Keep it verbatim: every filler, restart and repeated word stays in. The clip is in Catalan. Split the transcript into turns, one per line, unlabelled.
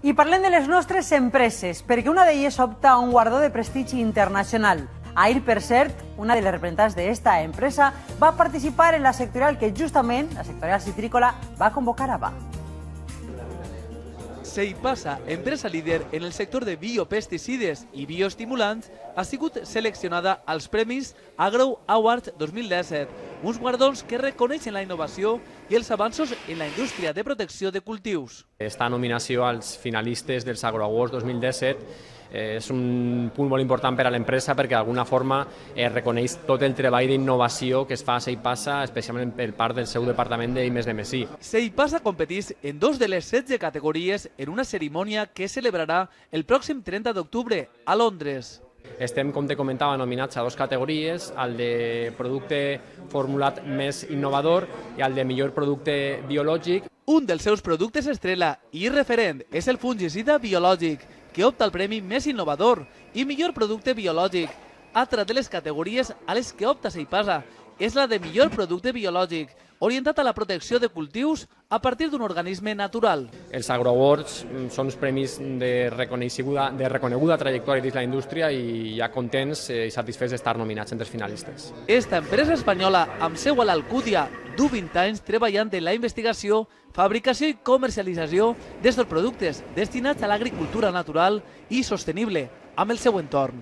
I parlem de les nostres empreses, perquè una d'elles opta a un guardó de prestigi internacional. Ahir, per cert, una de les representants d'esta empresa va participar en la sectorial que justament, la sectorial citrícola, va convocar a B A.
Seipasa, empresa líder en el sector de biopesticides i bioestimulants, ha sigut seleccionada als Premis Agro Awards dos mil disset, uns guardons que reconeixen la innovació i els avanços en la indústria de protecció de cultius.
Esta nominació als finalistes dels Agro Awards dos mil disset és un punt molt important per a l'empresa perquè d'alguna forma es reconeix tot el treball d'innovació que es fa a Seipasa, especialment per part del seu departament d'I més D més I.
Seipasa competeix en dos de les setze categories en una cerimònia que es celebrarà el pròxim trenta d'octubre a Londres.
Estem, com te comentava, nominats a dues categories, el de producte formulat més innovador i el de millor producte biològic.
Un dels seus productes estrella i referent és el fungicida biològic, que opta al premi més innovador i millor producte biològic. Altra de les categories a les que opta Seipasa és la de millor producte biològic, orientat a la protecció de cultius a partir d'un organisme natural.
Els Agro Awards són uns premis de reconeguda, de reconeguda trajectòria dins la indústria i ja contents i satisfets d'estar nominats entre els finalistes.
Esta empresa espanyola, amb seu a l'Alcúdia, du vint anys treballant en la investigació, fabricació i comercialització d'estos productes destinats a l'agricultura natural i sostenible amb el seu entorn.